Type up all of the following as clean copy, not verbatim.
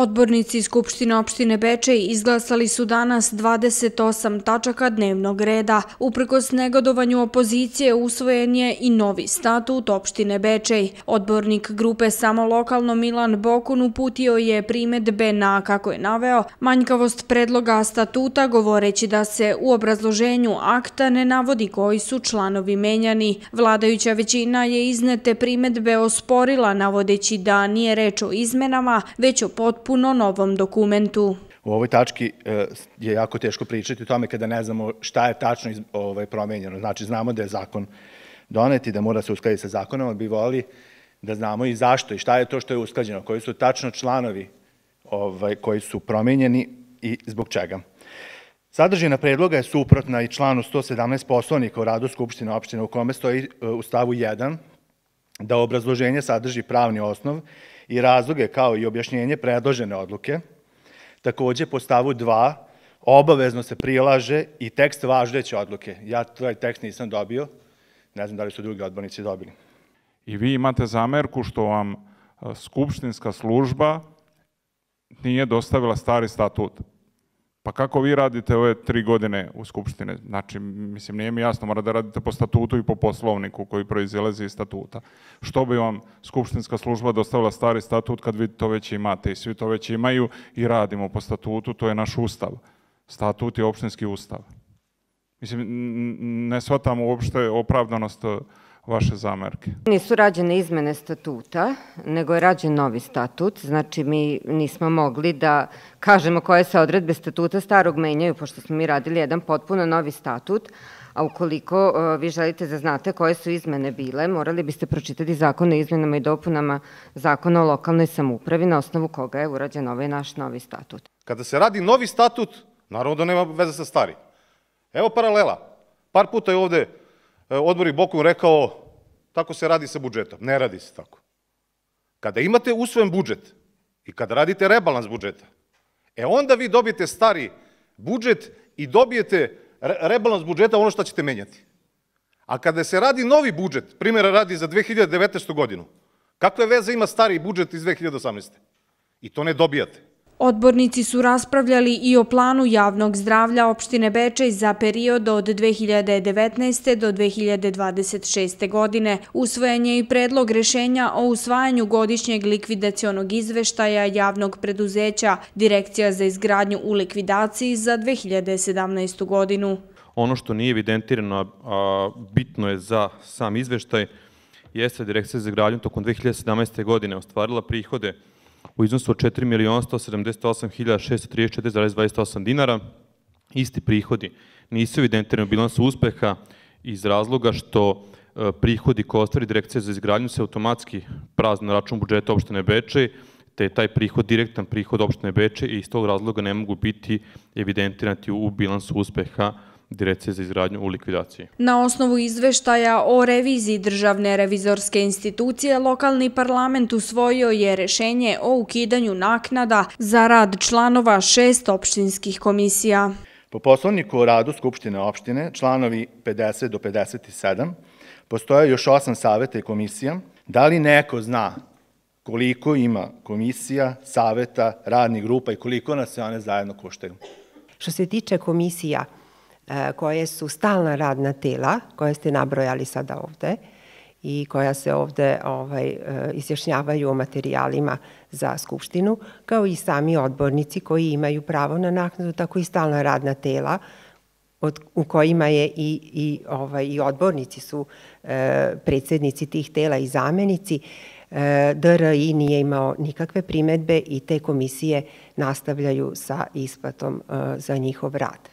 Odbornici Skupštine opštine Bečej izglasali su danas 28 tačaka dnevnog reda. Uprkos negodovanju opozicije usvojen je i novi statut opštine Bečej. Odbornik grupe Samo lokalno Milan Bokun uputio je primedbe na, kako je naveo, manjkavost predloga statuta, govoreći da se u obrazloženju akta ne navodi koji su članovi menjani. Vladajuća većina je iznete primedbe osporila, navodeći da nije reč o izmenama, već o potpuno novom dokumentu. U ovoj tački je jako teško pričati o tome kada ne znamo šta je tačno promenjeno. Znači, znamo da je zakon donet i da mora se uskladiti sa zakonom, ali bi volili da znamo i zašto i šta je to što je usklađeno, koji su tačno članovi koji su promenjeni i zbog čega. Sadržina predloga je suprotna i članu 117 Poslovnika o radu Skupštine opštine, u kome stoji u stavu 1 da obrazloženje sadrži pravni osnov i razloge kao i objašnjenje predložene odluke. Takođe, po stavu 2 obavezno se prilaže i tekst važeće odluke. Ja taj tekst nisam dobio, ne znam da li su drugi odbornici dobili. I vi imate zamerku što vam skupštinska služba nije dostavila stari statut. Pa kako vi radite ove 3 godine u Skupštine? Znači, mislim, nije mi jasno, mora da radite po statutu i po poslovniku koji proizilazi iz statuta. Što bi vam skupštinska služba dostavila stari statut kad vi to već imate i svi to već imaju i radimo po statutu, to je naš ustav. Statut je opštinski ustav. Mislim, ne shvatam uopšte opravdanost vaše zamerke. Nisu rađene izmene statuta, nego je rađen novi statut. Znači, mi nismo mogli da kažemo koje se odredbe statuta starog menjaju, pošto smo mi radili jedan potpuno novi statut, a ukoliko vi želite da znate koje su izmene bile, morali biste pročitati zakon o izmenama i dopunama Zakona o lokalnoj samoupravi, na osnovu koga je urađen ovaj naš novi statut. Kada se radi novi statut, naravno da nema veze sa starim. Evo paralela. Par puta je ovde odbornik Bokun rekao tako se radi sa budžetom. Ne radi se tako. Kada imate usvojen budžet i kada radite rebalans budžeta, onda vi dobijete stari budžet i dobijete rebalans budžeta ono što ćete menjati. A kada se radi novi budžet, primjera radi za 2019. godinu, kakve veze ima stari budžet iz 2018. I to ne dobijate. Odbornici su raspravljali i o planu javnog zdravlja opštine Bečej za period od 2019. do 2026. godine. Usvojen je i predlog rešenja o usvajanju godišnjeg likvidacionog izveštaja javnog preduzeća Direkcija za izgradnju u likvidaciji za 2017. godinu. Ono što nije evidentirano, a bitno je za sam izveštaj, jeste Direkcija za izgradnju tokom 2017. godine ostvarila prihode u iznosu od 4.178.634,28 dinara. Isti prihodi nisu evidentirani u bilansu uspeha iz razloga što prihodi koje ostvari Direkcija za izgradnju se automatski prazne na račun budžeta opštine Bečej, te je taj prihod direktan prihod opštine Bečej i iz tog razloga ne mogu biti evidentirani u bilansu uspeha Direkcije za izgradnju u likvidaciji. Na osnovu izveštaja o reviziji Državne revizorske institucije, lokalni parlament usvojio je rešenje o ukidanju naknada za rad članova 6 opštinskih komisija. Po Poslovniku o radu Skupštine opštine, članovi 50 do 57, postoje još 8 saveta i komisija. Da li neko zna koliko ima komisija, saveta, radnih grupa i koliko nas se one zajedno koštaju? Što se tiče komisija koje su stalna radna tela, koje ste nabrojali sada ovde i koja se ovde izjašnjavaju o materijalima za Skupštinu, kao i sami odbornici koji imaju pravo na naknadu, tako i stalna radna tela u kojima je i odbornici su predsednici tih tela i zamenici. DRI nije imao nikakve primedbe i te komisije nastavljaju sa isplatom za njihov rad.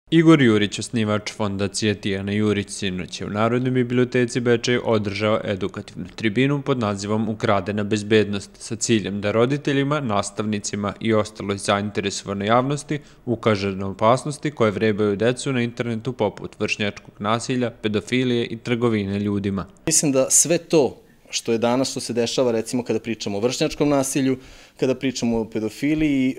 Igor Jurić, osnivač fondacije Tijana Jurić, sinoć je u Narodnoj biblioteci Bečej održao edukativnu tribinu pod nazivom Ukradena bezbednost sa ciljem da roditeljima, nastavnicima i ostaloj zainteresovanoj javnosti ukaže na opasnosti koje vrebaju decu na internetu poput vršnjačkog nasilja, pedofilije i trgovine ljudima. Mislim da sve to što je danas, što se dešava recimo kada pričamo o vršnjačkom nasilju, kada pričamo o pedofiliji.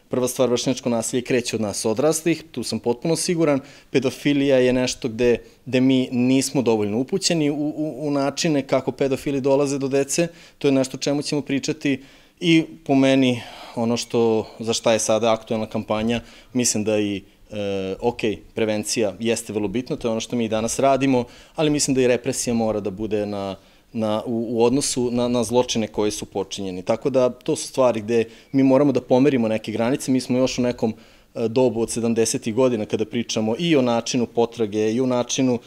Prva stvar, vršnjačko nasilje kreće od nas odraslih, tu sam potpuno siguran. Pedofilija je nešto gde mi nismo dovoljno upućeni u načine kako pedofili dolaze do dece. To je nešto o čemu ćemo pričati i po meni ono za šta je sada aktuelna kampanja, mislim da i prevencija jeste vrlo bitna, to je ono što mi i danas radimo, ali mislim da i represija mora da bude u odnosu na zločine koji su počinjeni. Tako da to su stvari gde mi moramo da pomerimo neke granice. Mi smo još u nekom dobu od 70. godina kada pričamo i o načinu potrage i o načinu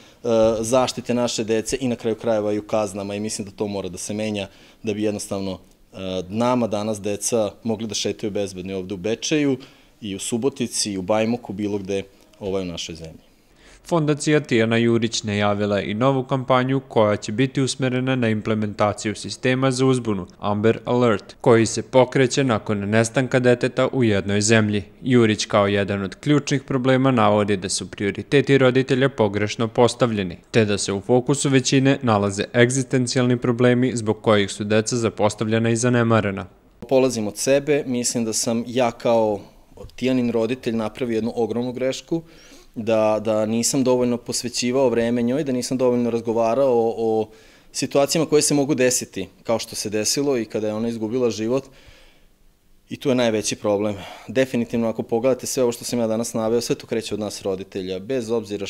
zaštite naše dece i na kraju krajeva i u kaznama i mislim da to mora da se menja da bi jednostavno nama danas deca mogli da šetaju bezbedni ovde u Bečeju i u Subotici i u Bajmoku, bilo gde u našoj zemlji. Fondacija Tijana Jurić najavila i novu kampanju koja će biti usmerena na implementaciju sistema za uzbunu Amber Alert, koji se pokreće nakon nestanka deteta u jednoj zemlji. Jurić kao jedan od ključnih problema navodi da su prioriteti roditelja pogrešno postavljeni, te da se u fokusu većine nalaze egzistencijalni problemi zbog kojih su deca zapostavljena i zanemarena. Polazim od sebe, mislim da sam ja kao Tijanin roditelj napravio jednu ogromnu grešku, da nisam dovoljno posvećivao vreme njoj, da nisam dovoljno razgovarao o situacijama koje se mogu desiti, kao što se desilo i kada je ona izgubila život. I tu je najveći problem. Definitivno, ako pogledate sve ovo što sam ja danas naveo, sve to kreće od nas roditelja, bez obzira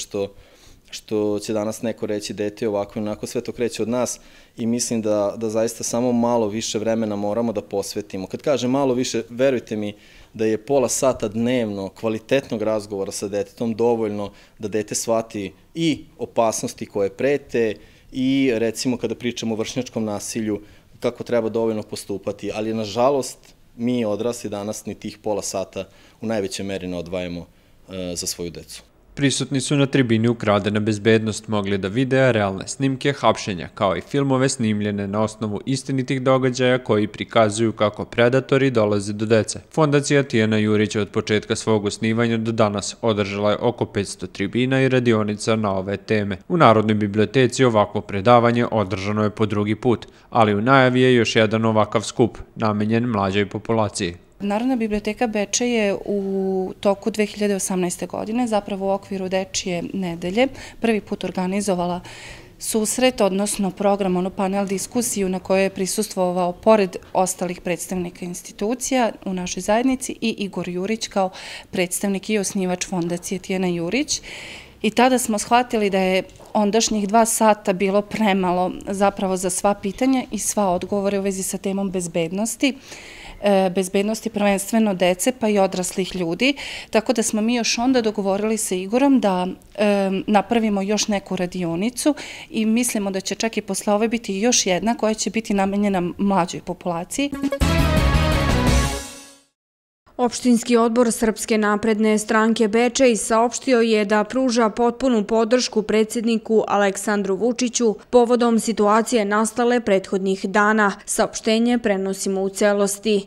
što će danas neko reći dete ovako i onako, sve to kreće od nas i mislim da zaista samo malo više vremena moramo da posvetimo. Kad kažem malo više, verujte mi da je pola sata dnevno kvalitetnog razgovora sa detetom dovoljno da dete shvati i opasnosti koje prete i recimo kada pričamo o vršnjačkom nasilju kako treba dovoljno postupati, ali nažalost mi odrasli danas ni tih pola sata u najvećoj meri ne odvajamo za svoju decu. Prisutni su na tribini Ukradena bezbednost mogli da vide realne snimke hapšenja, kao i filmove snimljene na osnovu istinitih događaja koji prikazuju kako predatori dolaze do dece. Fondacija Tijana Jurić od početka svog osnivanja do danas održala je oko 500 tribina i radionica na ove teme. U Narodnoj biblioteci ovakvo predavanje održano je po drugi put, ali u najavi je još jedan ovakav skup, namenjen mlađoj populaciji. Narodna biblioteka Bečej je u toku 2018. godine, zapravo u okviru Dečije nedelje, prvi put organizovala susret, odnosno program, panel diskusiju na kojoj je prisustvovao pored ostalih predstavnika institucija u našoj zajednici i Igor Jurić kao predstavnik i osnivač Fondacije Tijana Jurić. I tada smo shvatili da je ondašnjih 2 sata bilo premalo zapravo za sva pitanja i sva odgovore u vezi sa temom bezbednosti prvenstveno dece pa i odraslih ljudi, tako da smo mi još onda dogovorili sa Igorom da napravimo još neku radionicu i mislimo da će čak i posle ove biti još jedna koja će biti namenjena mlađoj populaciji. Opštinski odbor Srpske napredne stranke Bečej saopštio je da pruža potpunu podršku predsjedniku Aleksandru Vučiću povodom situacije nastale prethodnih dana. Saopštenje prenosimo u celosti.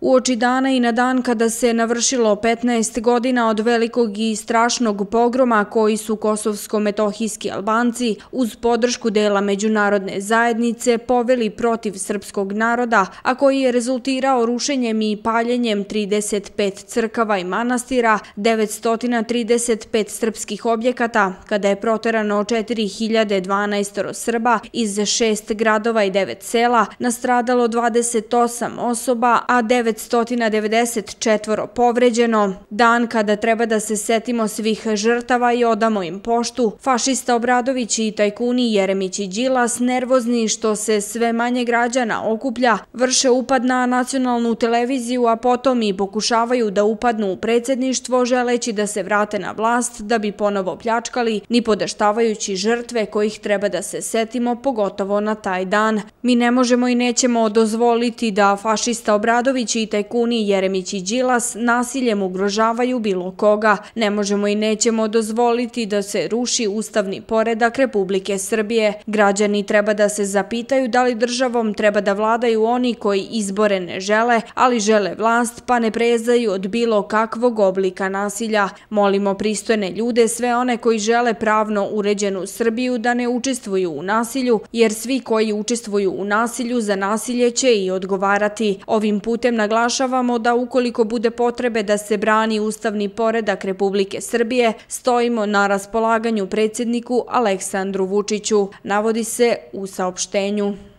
Uoči dana i na dan kada se navršilo 15 godina od velikog i strašnog pogroma koji su kosovsko-metohijski Albanci uz podršku dela međunarodne zajednice poveli protiv srpskog naroda, a koji je rezultirao rušenjem i paljenjem 35 crkava i manastira, 935 srpskih objekata, kada je proterano 4012 Srba iz 6 gradova i 9 sela, nastradalo 28 osoba, a 994 povređeno. Dan kada treba da se setimo svih žrtava i odamo im poštu, fašista Obradović i tajkuni Jeremić i Đilas, nervozni što se sve manje građana okuplja, vrše upad na nacionalnu televiziju, a potom i pokušavaju da upadnu u predsjedništvo želeći da se vrate na vlast da bi ponovo pljačkali, ni podaštavajući žrtve kojih treba da se setimo, pogotovo na taj dan. Mi ne možemo i nećemo dozvoliti da fašista Obradović i čiji tajkuni Jeremić i Đilas nasiljem ugrožavaju bilo koga. Ne možemo i nećemo dozvoliti da se ruši ustavni poredak Republike Srbije. Građani treba da se zapitaju da li državom treba da vladaju oni koji izbore ne žele, ali žele vlast pa ne prezaju od bilo kakvog oblika nasilja. Molimo pristojne ljude, sve one koji žele pravno uređenu Srbiju, da ne učestvuju u nasilju, jer svi koji učestvuju u nasilju za nasilje će i odgovarati. Ovim putem naglašavamo da ukoliko bude potrebe da se brani ustavni poredak Republike Srbije, stojimo na raspolaganju predsjedniku Aleksandru Vučiću, navodi se u saopštenju.